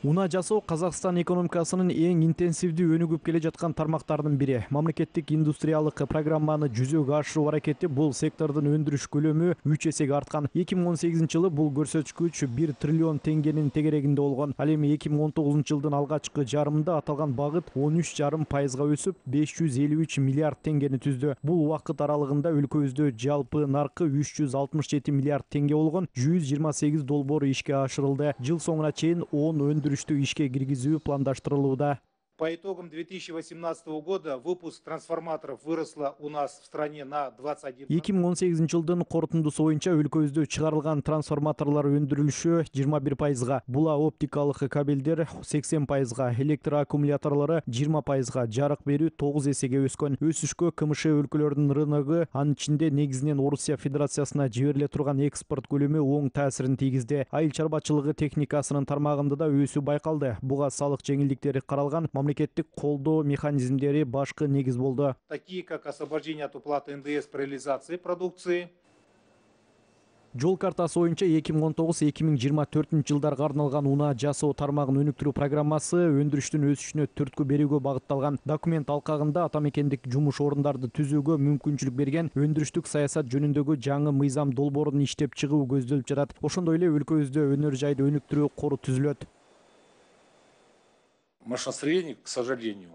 Унаа жасоо Казакстан экономикасынын эң интенсивдүү өнүгүп келе жаткан тармактарынын бири. Мамлекеттик индустриялык программаны жүзөгө ашыруу аракети бул сектордун өндүрүш көлөмү 3 эсеге арткан. 2018-жылы бул көрсөткүч 1 триллион теңгенин тегерегинде болгон. Ал эми 2019-жылдын алгачкы жарымында аталган багыт 13,5% өсүп 553 миллиард теңгени түздү. Бул убакыт аралыгында өлкөбүздө жалпы наркы 367 миллиард теңге болгон 128 долбоор ишке ашырылды. Жыл соңуна чейин 10 өндүрүштү ишке киргизүү пландаштырылууда. По итогам 2018 года выпуск трансформаторов выросла у нас в стране на 21%. 2018-жылдын корутундусу боюнча өлкөбүздө чыгарылган трансформаторлор өндүрүлүшү 21%, була оптикалык кабелдер 80%, электр аккумуляторлору 20%, жарык берүү 9 эсеге өскөн. Өсүшкө КМШ өлкөлөрүнүн рыногу, анын ичинде негизинен Орусия Федерациясына жибериле турган экспорт көлөмү оң таасирин тийгизди. Айыл чарбачылыгы техникасынын тармагында да өсүү байкалды. Буга салык жеңилдиктери каралган, мамлекеттик колдоо механизмдери башкы негиз болду. Такие как освобождение от уплаты НДС при реализации продукции. Жол картасы боюнча 2019-2024 жылдарга арналган унаа жасоо тармагын өнүктүрүү программасы өндүрүштүн өсүшүнө түрткү берүүгө багытталган. Документ алкагында ата мекендик жумуш орундарды түзүүгө мүмкүнчүлүк берген өндүрүштүк саясат жөнүндөгү жаңы мыйзам долбоорун иштеп чыгуу көздөлүп жатат. Ошондой эле өлкөбүздө өнөр жайды өнүктүрүү кору түзүлөт. Машиностроение, к сожалению,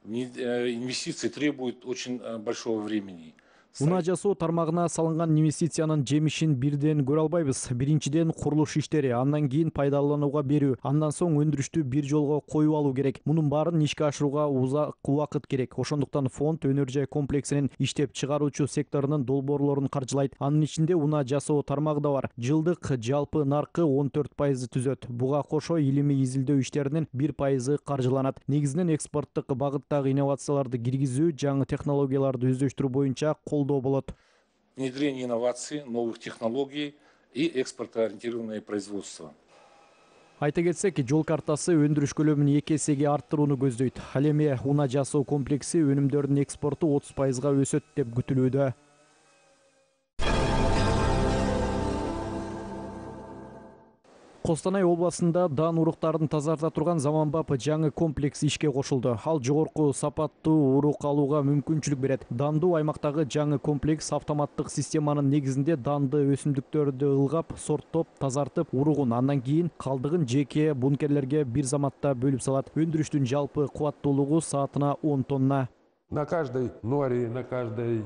инвестиции требует очень большого времени. Унаа жасоо тармагына салынган инвестициянын жемишин бирден көрө албайбыз. Биринчиден курулуш иштери, андан кийин пайдаланууга берүү, андан соң өндүрүштү бир жолго коюп алуу керек. Мунун баарын ишке ашырууга узак убакыт керек. Ошондуктан фонд өнөр жай комплексинин иштеп чыгаруучу секторунун долбоорлорун каржылайт. Анын ичинде унаа жасоо тармагы да бар. Жылдык жалпы наркы 14% түзөт. Буга кошо илимий изилдөө иштеринин 1% каржыланат. Негизинен экспорттук багыттагы инновацияларды киргизүү, жаңы технологияларды өздөштүрүү боюнча болот. Внедрение инноваций, новых технологий и экспортоориентированное производство. Айта кетсек, жол картасы өндүрүш көлөмүн 2 эсеге арттырууну көздөйт. Ал эми унаа жасоо комплекси өнүмдөрдүн экспорту 30% өсөт деп күтүлүүдө. Костанай областында дан уруктарын тазарта турган заманбап жаңы комплекс ишке кошулду. Ал жогорку сапаттуу урук алууга мүмкүнчүлүк берет. Дандуу аймактагы жаңы комплекс автоматтык системанын негизинде данды өсүмдүктөрдү ылгап, сорттоп, тазартып, уругун, андан кийин калдыгын жеке бункерлерге бир заматта бөлүп салат. Өндүрүштүн жалпы кубаттуулугу саатына 10 тонна. На каждой норе, на каждой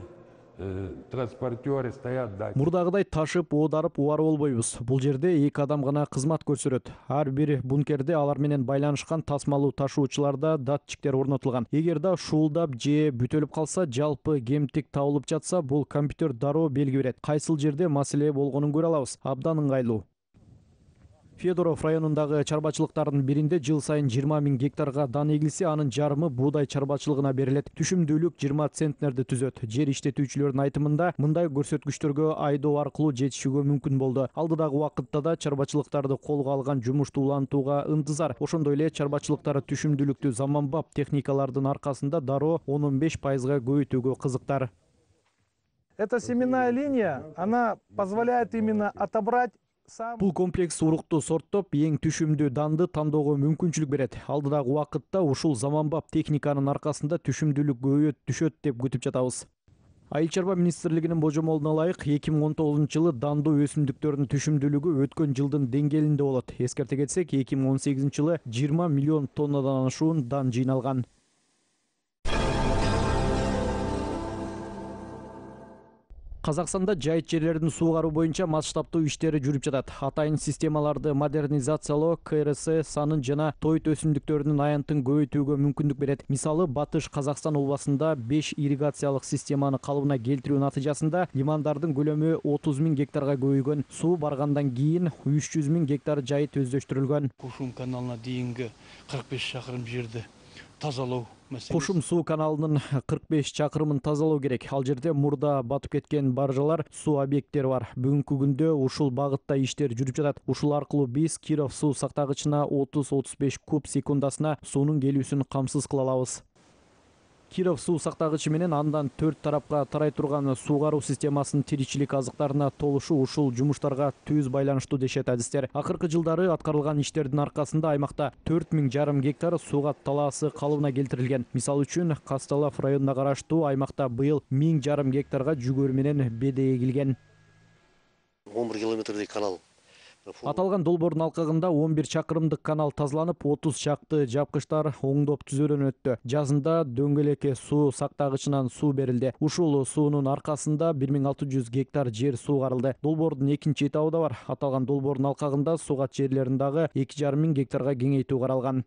транспортеры стоят датчики. Мурдагыдай ташып, оодарып, убарып болбойбуз. Бул жерде 2 адам гана кызмат көрсөтөт. Ар бир бункерде алар менен байланышкан тасмалуу ташуучуларда датчиктер орнотулган. Эгер да шуулдап же бүтөлүп калса, жалпы кемтик табылып жатса, бул компьютер дароо белги берет. Кайсыл жерде маселе болгонун көрө алабыз. Абдан ыңгайлуу. Федоров районундагы чарбачылыктардын биринде жыл сайын 20 000 гектарга дан эгилсе, анын жарымы буудай чарбачылыгына берилет. Түшүмдүүлүк 20 центнерди түзөт. Жер иштетүүчүлөрдүн айтымында, мындай көрсөткүчтөргө айдоо аркылуу жетишүүгө мүмкүн болду. Алдыдагы убакытта да чарбачылыктарды колго алган жумушту улантууга ынтызар. Ошондой эле чарбачылыктар түшүмдүүлүктү заманбап техникалардын аркасында дароо 10-15% көбөйтүүгө кызыктар. Эта семенная линия, она позволяет именно отобрать. Бул комплекс урукту сорттоп, эң түшүмдүү данды тандоого мүмкүнчүлүк берет. Алдыдагы убакытта ушул заманбап техниканын аркасында түшүмдүүлүк көбөйөт түшөт деп күтүп жатабыз. Айыл чарба министрлигинин божомолуна ылайык 2019-жылы дандуу өсүмдүктөрдүн түшүмдүүлүгү өткөн жылдын деңгээлинде болот. Эскерте кетсек, 2018-жылы 20 миллион тоннадан ашуун дан жыйналган. Казакстанда жайыт жерлерин суугаруу боюнча масштабтуу иштери жүрүп жатат. Атайын системаларды модернизациялоо КРС санын жана тоyt өсүмдүктөрүнүн аянтын көбөйтүүгө мүмкүндүк берет. Мисалы, Батыш Казакстан областында 5 ирригациялык системаны калыбына келтирүү натыйжасында лимандардын көлөмү 30 000 гектарга көбөйгөн. Суу баргандан кийин 300 000 гектар жайыт өздөштүрүлгөн. Кушум каналына дейинги 45 чакырым жерди тазалоо. Кушум суу каналынын 45 чакырымын тазалоо керек. Ал жерде мурда батып кеткен баржалар, суу объекттери бар. Бүгүнкү күндө ушул багытта иштер жүрүп жатат. Ушул аркылуу биз Киров суу сактагычына 30-35 куб секундасына суунун келүүсүн камсыз кыла алабыз. Киров суу сактагычы менен андан 4 тарапка тарай турган суугаруу системасынын тиричилик азыктарына толушу ушул жумуштарга түз байланыштуу дешет адистер. Акыркы жылдары аткарылган иштердин аркасында аймакта 4,5 гектар сууга талаасы калыбына келтирилген. Мисалы үчүн Касталов районуна караштуу аймакта быйыл 1,5 гектарга жүгөр менен беде эгилген. 11 километрдей канал. Аталган долбоордун алкагында 11 чакырымдык канал тазаланып, 30 чакты жапкычтар оңдоп түзүүдөн өттү. Жазында дөңгөлекке суу сактагычынан суу берилди. Ушул суунун аркасында 1600 гектар жер суугарылды. Долбоордун экинчи этабы да бар. Аталган долбоордун алкагында суугат жерлерин дагы 2,5 гектарга кеңейтүү каралган.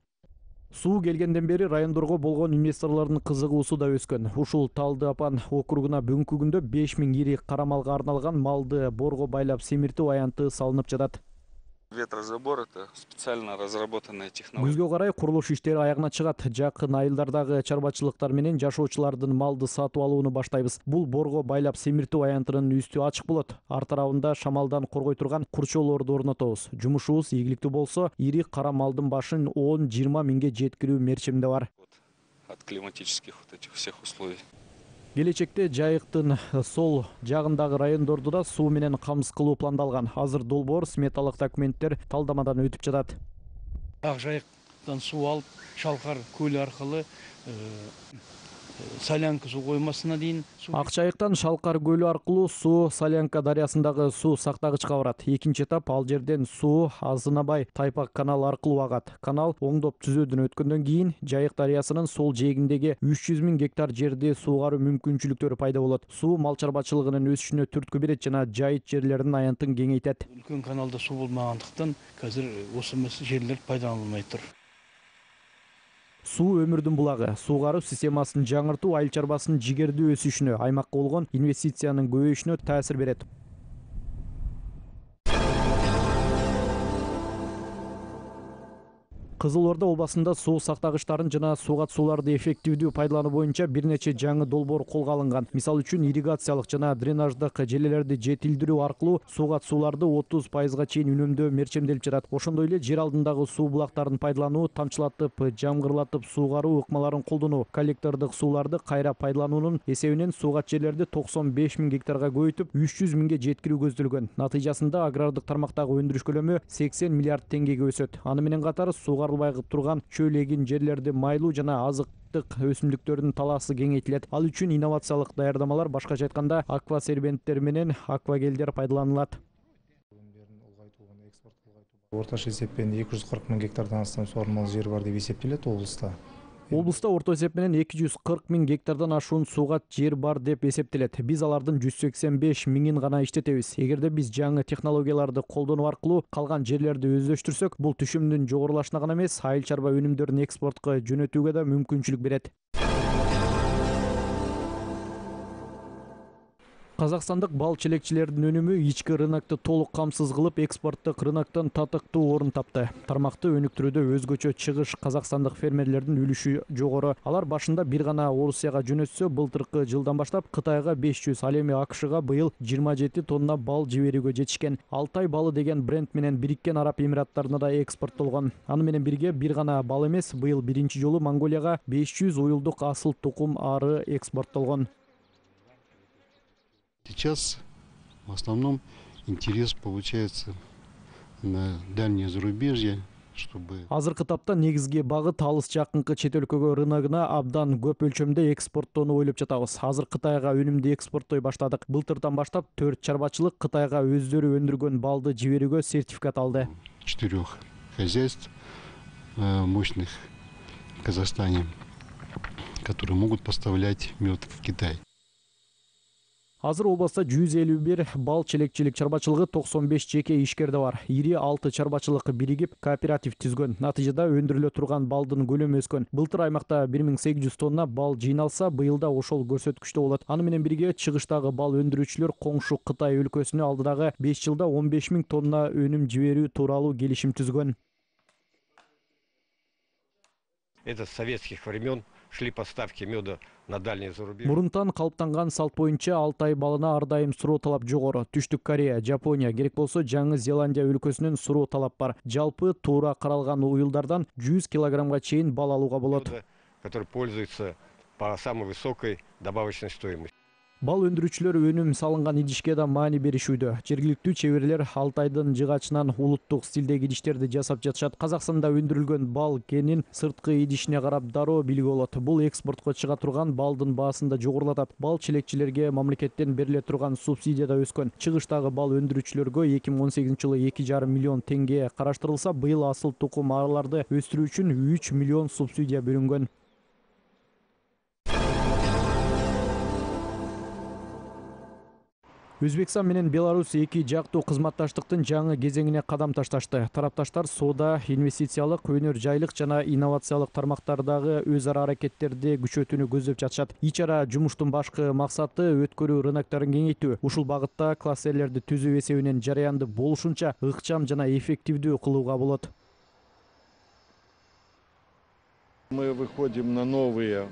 Суу келгенден бери райондорго болгон инвесторлордун кызыгуусу да өскөн. Ушул Талды Апан округуна бүгүнкү күндө 5000 ири кара малга арналган малды борго байлап семиртүү аянты салынып жатат. Ветрозабор — это специально разработанная технология. Күзгө карай курулуш иштери аягына чыгат. Жакын айылдардагы чарбачылыктар менен жашоочулардын малды сатып алууну баштайбыз. Бул борго байлап семиртүү аянтынын үстү ачык болот. Ар тарабында шамалдан коргой турган курчоолорду орнотобуз. Жумушубуз ийгиликтүү болсо, ири кара малдын башын 10-20 миңге жеткирүү мерчимде бар. От климатических вот этих всех условий. Келечекте Жайыктын сол жагындагы райондорду да суу менен камсыз кылуу пландалган. Азыр долбоор сметалык документтер талдамадан өтүп жатат. Ак Жайыктан суу алып, Шалкар көлү аркылы Солянка суу коймасына дейин. Ак Жайыктан Шалкар көлү аркылуу суу Солянка дарыясындагы суу сактагычка барат. Экинчи этап ал жерден суу Азынабай Тайпак канал аркылуу агат. Канал оңдоп түзүүдөн өткөндөн кийин Жайык дарыясынын сол жээгиндеги 300 000 гектар жерди суугаруу мүмкүнчүлүктөрү пайда болот. Суу мал чарбачылыгынын өсүшүнө түрткү берет жана жайыт жерлеринин аянтын кеңейтет. Үлкөн каналда суу болмагандыктан азыр осы жерлер пайдаланылмай тур. Суу өмүрдүн булагы. Суугаруу системасын жаңыртуу айыл чарбасынын жигердүү өсүшүнө, аймакка болгон инвестициянын көбөйүшүнө таасир берет. Кызыл Орда областында суу сактагычтарын жана суугат сууларды эффективдүү пайдалануу боюнча бир нече жаңы долбоор колго алынган. Мисалы үчүн ирригациялык жана дренаждык желелерди жетилдирүү аркылуу суугат сууларды 30% чейин үнөмдөө мерчемделип жатат. Ошондой эле жер алдындагы суу булактарын пайдалануу, тамчылатып, жамгырлатып суугаруу ыкмаларын колдонуу, коллектордук сууларды кайра пайдалануунун эсебинен суугат жерлерди 95 000 гектарга көбөйтүп, 300 000ге жеткирүү көздөлгөн. Натыйжасында агрардык тармактагы өндүрүш көлөмү 80 миллиард теңгеге өсөт. Аны менен катар суугарылбай турган чөл эгин жерлерди майлуу жана азыктык өсүмдүктөрдүн талаасы кеңейтилет. Ал үчүн инновациялык даярдамалар, башкача айтканда аквасербенттер менен аквагелдер пайдаланылат. Орточо эсеппен 240 000 гектардан астам суармалуу жер бар деп эсептелет облуста. Облуста орто эсеп менен 240 000 гектардан ашуун суугат жер бар деп эсептелет. Биз алардын 185 000-ин гана иштетебиз. Эгерде биз жаңы технологияларды колдонуу аркылуу калган жерлерди өздөштүрсөк, бул түшүмдүн жогорулашына гана эмес, айыл чарба өнүмдөрүн экспортко жөнөтүүгө да мүмкүнчүлүк берет. Казакстандык бал челекчилердин өнүмү ички рынокто толук камсыз кылып, экспорттук рыноктон татыктуу орун тапты. Тармакты өнүктүрүүдө өзгөчө чыгыш казакстандык фермерлердин үлүшү жогору. Алар башында бир гана Орусияга жөнөтсө, былтыркы жылдан баштап Кытайга 500, ал эми АКШга быйыл 27 тонна бал жиберүүгө жетишкен. Алтай балы деген бренд менен Бириккен Араб Эмираттарына да экспорттолгон. Аны менен бирге бир гана бал эмес, быйыл биринчи жолу Монголияга 500 уюлдук асыл тукум ары экспорттолгон. Сейчас в основном интерес получается на дальнее зарубежье, чтобы... Азыркы тапта негизги багыт алыс жакынкы чет өлкөгө рыногуна абдан көп өлчөмдө экспорттоону ойлоп жатабыз. Азыр Кытайга өнүмдү экспорттой баштадык. Былтырдан баштап 4 чарбачылык Кытайга өздөрү өндүргөн балды жиберүүгө сертификат алды. 4 хозяйств мощных в Казахстане, которые могут поставлять мед в Китай. Азыр областта 151 бал челекчилик чарбачылыгы, 95 жеке ишкерде бар. Ири 6 чарбачылык биригип кооператив түзгөн. Натыйжада өндүрүлө турган балдын көлөмү өскөн. Былтыр аймакта 1800 тонна бал жыйналса, быйылда ошол көрсөткүчтө болот. Аны менен бирге чыгыштагы бал өндүрүүчүлөр коңшу Кытай өлкөсүнө алдыдагы 5 жылда 15 000 тонна өнүм жиберүү тууралуу келишим түзгөн. Это с советских времен шли поставки меда на дальний зарубеж. Мурунтан калыптанган салт боюнча Алтай балына ар дайым суроо талап жогору. Түштүк Корея, Жапония, керек болсо Жаңы Зеландия өлкөсүнөн суроо талап бар. Жалпы туура каралган уюлдардан 100 килограммга чейин бал алууга болот. Который пользуется по самой высокой добавочной стоимости. Бал өндүрүүчүлөр өнүм салынган идишке да маани беришүүдө. Жергиликтүү чеберлер Алтайдын жыгачынан улуттук стилдеги идиштерди жасап жатышат. Казакстанда өндүрүлгөн бал кенин сырткы идишине карап дароо билүүгө болот. Бул экспортко чыга турган балдын баасын да жогорулатат. Бал чилекчилерге мамлекеттен бериле турган субсидия да өскөн. Чыгыштагы бал өндүрүүчүлөргө 2018-жылы 2,5 миллион теңге караштырылса, быйыл асыл тукум араларды өстүрүү үчүн 3 миллион субсидия бөлүнгөн. Өзбекстан менен Беларусь эки жактуу кызматташтыктын жаңы кезеңине кадам ташташты. Тарапташтар соода, инвестициялык, өнөр жайлык жана инновациялык тармактардагы өз ара аракеттерди күчөтүүнү көздөп жатышат. Ичара жумуштун башкы максаты өткөрүү рынокторун кеңейтүү. Ушул багытта кластерлерди түзүү эсебинен жараянды болушунча ыкчам жана эффективдүү кылууга болот. Мы выходим на новые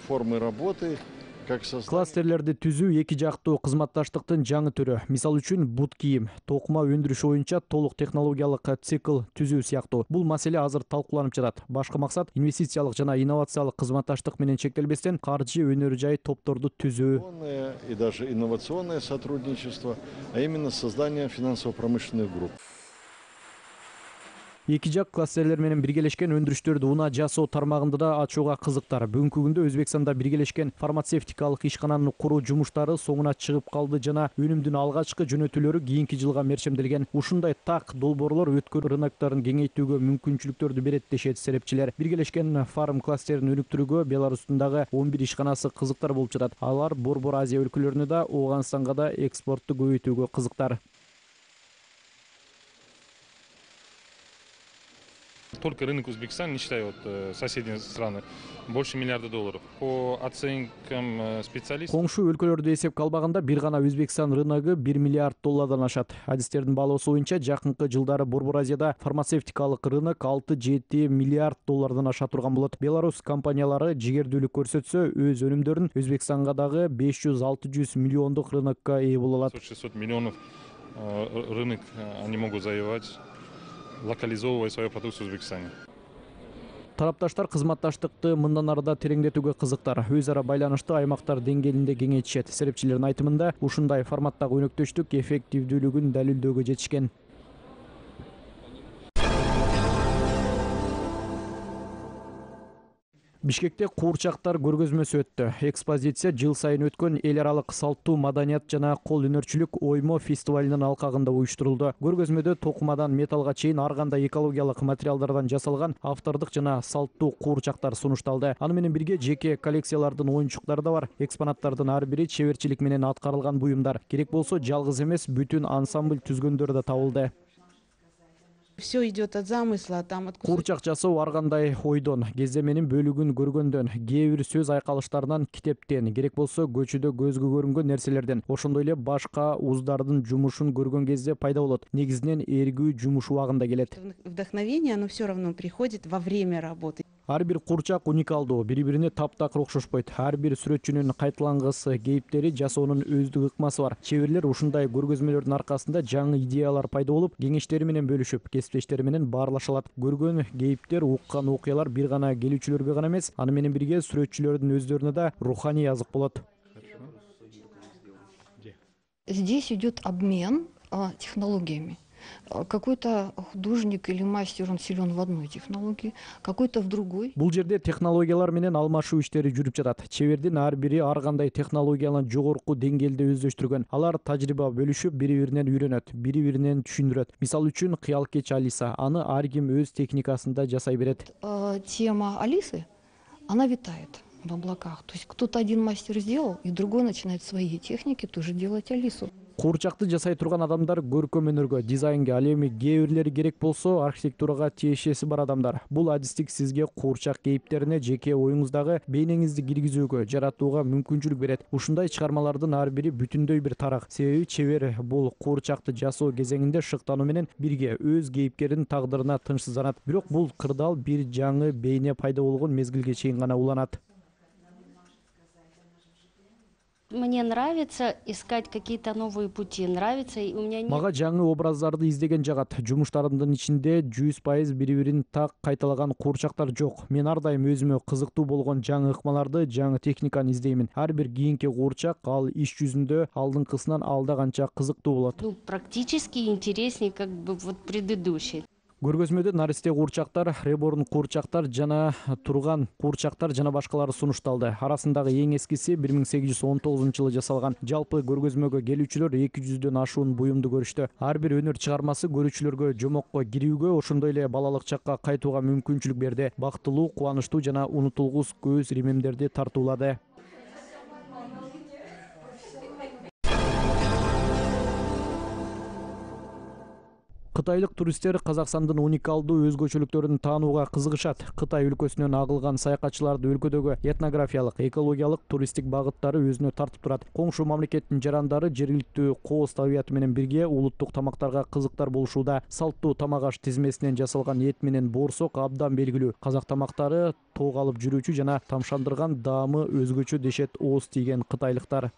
формы работы. Кластерлерди түзүү эки жактуу кызматташтыктын жаңы түрү. Мисал үчүн бут кийим, токума өндүрүш боюнча толук технологиялык цикл түзүү сыяктуу. Бул маселе азыр талкууланып жатат. Башкы максат инвестициялык жана инновациялык кызматташтык менен чектелбестен каржы өнөр жай топторду түзүү. И даже инновационное сотрудничество, а именно создание финансово-промышленных групп. Эки жак кластерлер менен биргелешкен өндүрүштөрдү унаа жасоо тармагында да ачууга кызыктар. Бүгүнкү күндө Өзбекстанда биргелешкен фармацевтикалык ишкананы куруу жумуштары соңуна чыгып калды жана өнүмдүн алгачкы жөнөтүүлөрү кийинки жылга мерчемделген. Ушундай так долбоорлор өткөрүү рынокторун кеңейтүүгө мүмкүнчүлүктөрдү берет дешет серепчилер. Биргелешкен фарм кластерин өнүктүрүүгө Беларустун дагы 11 ишканасы кызыктар болуп жатат. Алар Борбор Азия өлкөлөрүнө да, Ооганстанга да экспортту көбөйтүүгө кызыктар. Только рынок Узбекистана, не считая соседние страны, больше $миллиарда. По оценкам специалистов... Коңшу өлкөлөрдү эсепке албаганда бир гана Өзбекстан рыногу $1 миллиард ашат. Адистердин баалоосу боюнча жакынкы жылдары Борбор Азияда фармацевтикалык рынок 6-7 миллиард доллардан аша турган болот. Беларус компаниялары жигердүүлүк көрсөтсө, өз өнүмдөрүн Өзбекстанга дагы 500-600 миллиондук рынокко ээ боло алат. 600 миллионов рынок они могут завоевать, локализовывая свою продукцию в Узбекистане. Тарапташтар кызматташтыкты мындан арыда тереңдетүүгө кызыктар. Өз ара байланышты аймактар деңгээлинде кеңейтишет. Серепчилердин айтымында, ушундай форматтагы өнөктөштүк эффективдүүлүгүн далилдөөгө жетишкен. Бишкекте куурчактар көргөзмөсү өттү. Экспозиция жыл сайын өткөн эл аралык салттуу маданият жана кол өнөрчүлүк оймо фестивалынын алкагында уюштурулду. Көргөзмөдө токумадан металлга чейин ар кандай экологиялык материалдардан жасалган автордук жана салттуу куурчактар сунушталды. Аны менен бирге жеке коллекциялардын оюнчуктары да бар. Экспонаттардын ар бири чеберчилик менен аткарылган буюмдар. Керек болсо жалгыз эмес, бүтүн ансамбль түзгөндөр да табылды. Все идет от замысла, там от... Куурчак жасоо ар кандай ойдон, кездеменин бөлүгүн көргөндөн, кээ бир сөз айкалыштарынан, китептен, керек болсо көчөдө көзгө көрүнгөн нерселерден, ошондой эле башка уздардын жумушун көргөн кезде пайда болот. Негизинен эргүү жумуш убагында келет. Вдохновение, оно все равно приходит во время работы. Ар бир куурчак уникалдуу, бири-бирине таптакыр окшошпойт. Ар бир сүрөтчүнүн кайталангысы, кейиптери, жасоонун өздүк ыкмасы бар. Чеберлер ушундай көргөзмөлөрдүн аркасында жаңы идеялар пайда болуп, кеңештери менен бөлүшүп, кесиптештери менен баарлаша алат. Көргөн кейиптер, уккан окуялар бир гана келүүчүлөргө гана эмес, аны менен бирге сүрөтчүлөрдүн өздөрүнө да руханий азык болот. Здесь идет обмен технологиями. Какой-то художник или мастер, он силен в одной технологии, какой-то в другой. Бул жерде технологиялар менен алмашуу иштери жүрүп жатат. Чебердин ар бири ар кандай технологиянын жогорку деңгээлде өздөштүргөн. Алар тажрыйба бөлүшүп, бири-биринен үйрөнөт, бири-биринен түшүндүрөт. Мисал үчүн кыялкеч Алиса, аны ар ким өз техникасында жасай берет. Тема Алисы, она витает в облаках. То есть кто-то один мастер сделал, и другой начинает свои техники тоже делать Алису. Куурчакты жасай турган адамдар көркөм өнөргө, дизайнга, ал эми кээ бирлери керек болсо архитектурага тиешеси бар адамдар. Бул адистик сизге куурчак кейиптерине жеке оюңуздагы бейнеңизди киргизүүгө, жаратууга мүмкүнчүлүк берет. Ушундай чыгармалардын ар бири бүтүндөй бир тарак. Себеби чебер бул куурчакты жасоо кезеңинде шыктануу менен бирге өз кейипкеринин тагдырына тынчсызданат. Бирок бул кырдаал бир жаңы бейне пайда болгон мезгилге чейин гана уланат. Мне нравится искать какие-то новые пути. Нравится, и у меня нет... Мага жаңы образдарды издеген жагат. Жумуштарымдын ичинде 100% бири-бирин так кайталаган куурчактар жок. Мен ар дайым өзүмө кызыктуу болгон жаңы ыкмаларды, жаңы техниканы издеймин. Ар бир кийинки куурчак ал иш жүзүндө алдыңкысынан алда канча кызыктуу болот. Практически интереснее, как бы вот предыдущий. Көргөзмөдө наристе куурчактар, реборн куурчактар жана турган куурчактар жана башкалары сунушталды. Арасындагы эң эскиси 1819-жылы жасалган. Жалпы көргөзмөгө келүүчүлөр 200дөн ашуун буюмду көрүштү. Ар бир өнөр чыгармасы көрүүчүлөргө жомокко кирүүгө, ошондой эле балалык чакка кайтууга мүмкүнчүлүк берди. Бактылуу, кубанычтуу жана унутулгус көз римемдерди тартуулады. Кытайлык туристтер Казакстандын уникалдуу өзгөчөлүктөрүн таанууга кызыгышат. Кытай өлкөсүнөн агылган саякатчыларды өлкөдөгү этнографиялык, экологиялык, туристтик багыттары өзүнө тартып турат. Коңшу мамлекеттин жарандары жергиликтүү кооз табиаты менен бирге улуттук тамактарга кызыктар болушууда. Салттуу тамак аш тизмесинен жасалган эт менен боорсок абдан белгилүү. Казак тамактары тоок алып жүрүүчү жана тамшандырган даамы өзгөчө дешет ооз тийген кытайлыктар.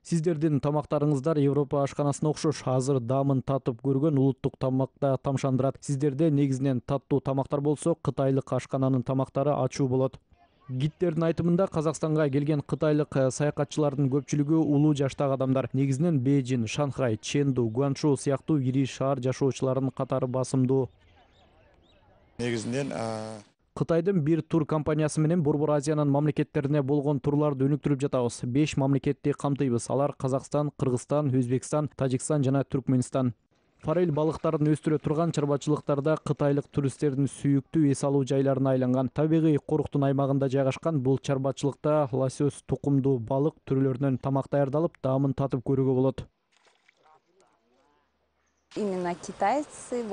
Сиздердин тамактарыңыздар Европа ашканасына окшош. Азыр даамын татып көргөн улуттук тамакта тамшандырат. Сиздерде негизинен таттуу тамактар болсо, кытайлык ашкананын тамактары ачуу болот. Гидтердин айтымында Казакстанга келген кытайлык саякатчылардын көпчүлүгү улуу жаштагы адамдар. Негизинен Бейжин, Шанхай, Чэнду, Гуанчжоу сыяктуу ири шаар жашоочуларынын катары басымдуу. Негизинен Кытайдын бир тур компаниясы менен Борбор Азиянын мамлекеттерине болгон турларды өнүктүрүп жатабыз. 5 мамлекетти камтыйбыз. Алар Казакстан, Кыргызстан, Өзбекстан, Тажикстан жана Түркмөнстан. Форель балыктарын өстүрө турган чарбачылыктарда кытайлык туристтердин сүйүктүү эс алуу жайларына айланган. Табигый коруктун аймагында жайгашкан бул чарбачылыкта лосось тукумдуу балык түрлөрүнөн тамак даярдалып, даамын татып көрүүгө болот. Именно китайцы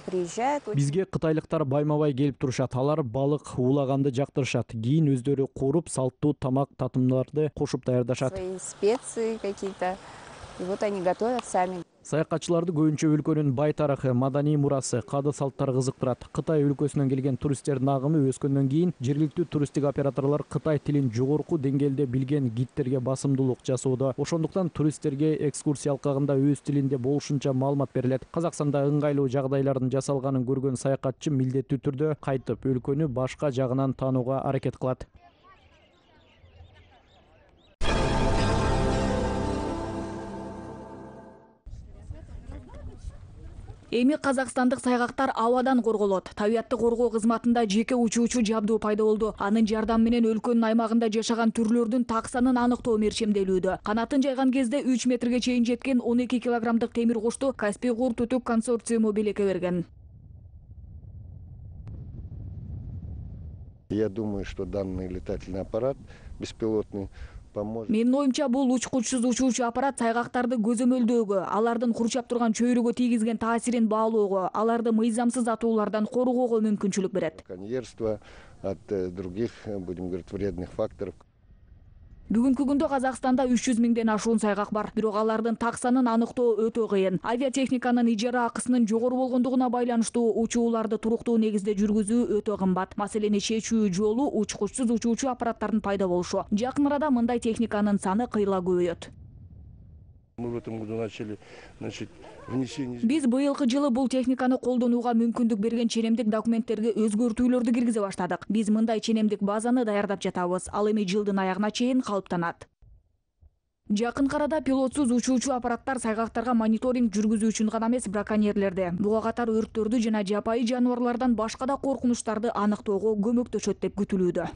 приезжают. Бизге кытайлыктар байма-бай келип турушат. Алар балык уулаганды жактырышат. Кийин өздөрү кууруп, салттуу тамак татымдарды кошуп даярдашат. Свои специи какие-то. И вот они готовят сами. Саякатчыларды көбүнчө өлкөнүн бай тарыхы, маданий мурасы, каады салттары кызыктырат. Кытай өлкөсүнөн келген туристтердин агымы өскөндөн кийин жергиликтүү туристтик операторлор кытай тилин жогорку деңгээлде билген гидтерге басымдуулук жасоодо. Ошондуктан туристтерге экскурсия алкагында өз тилинде болушунча маалымат берилет. Казакстанда ыңгайлуу жагдайлардын жасалганын көргөн саякатчы милдеттүү түрдө кайтып өлкөнү башка жагынан таанууга аракет кылат. Эми казакстандык сайгактар абадан корголот. Табиатты коргоо кызматында жеке учуучу жабдуу пайда болду. Анын жардамы менен өлкөнүн аймагында жашаган түрлөрдүн таксанын аныктоо мерчемделүүдө. Канатын жайган кезде 3 метрге чейин жеткен 12 килограммдык темир кошту Каспий кур түтүк консорциуму белекке берген. Я думаю, что данный летательный аппарат беспилотный Менин оюмча бул учкучсуз учуучу аппарат сайгактарды көзөмөлдөөгө, алардын курчап турган чөйрөгө тийгизген таасирин баалоого, аларды мыйзамсыз атуулардан коргоого мүмкүнчүлүк берет. Коньерство от других, будем говорить, вредных факторов. Бүгүнкү күндө Казакстанда 300 миңден ашуун сайгак бар. Бирок алардын таксанын аныктоо өтө кыйын. Авиатехниканын ижара акысынын жогору болгондугуна байланыштуу учууларды туруктуу негизде жүргүзүү өтө кымбат. Маселени чечүү жолу учкучсуз учуучу аппараттардын пайда болушу. Жакын арада мындай техниканын саны кыйла көбөйөт. Мы в этом году начали, внесение. Биз быйылкы жылы бул техниканы колдонууга мүмкүндүк берген ченемдик документтерге өзгөртүүлөрдү киргизе баштадык. Биз мындай ченемдик базаны даярдап жатабыз. Ал эми жылдын аягына чейин калыптанат. Жакын арада пилотсуз учуучу аппараттар сайгактарга мониторинг жүргүзүү үчүн гана эмес, браконьерлерди, буга катар өрттөрдү жана жапайы жаныбарлардан башка да коркунучтарды аныктоого көмөктөшөт деп күтүлүүдө.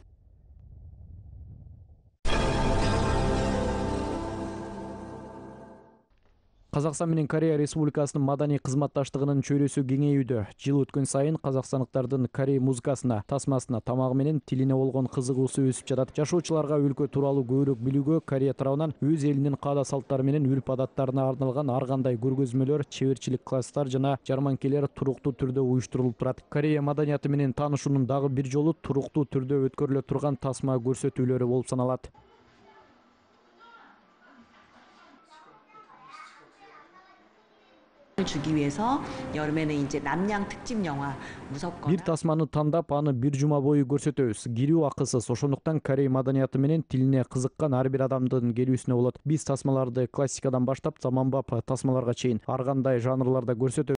Казакстан менен Корея Республикасынын маданий кызматташтыгынын чөйрөсү кеңейүүдө. Жыл өткөн сайын казакстандыктардын Корей музыкасына, тасмасына, тамагы менен тилине болгон кызыгуусу өсүп жатат. Жашоочуларга өлкө тууралуу көбүрөөк билүүгө Корея тарабынан өз элинин каада салттары менен үрп адаттарына арналган ар кандай көргөзмөлөр, чеберчилик класстар жана жарманкелер туруктуу түрдө уюштурулуп турат. Корея маданияты менен таанышуунун дагы бир жолу туруктуу түрдө өткөрүлө турган тасма көрсөтүүлөрү болуп саналат. 주기 위해서 여름에는 이제 남양 특집 영화 무섭거나 Бир тасманы тандап, аны бир жума бою көрсөтөбүз. Кирүү акысыз. Ошондуктан Корей маданияты менен тилине кызыккан ар бир адамдын келүүсүнө болот. Биз тасмаларды классикадан баштап заманбап тасмаларга чейин ар кандай жанрларда көрсөтөбүз.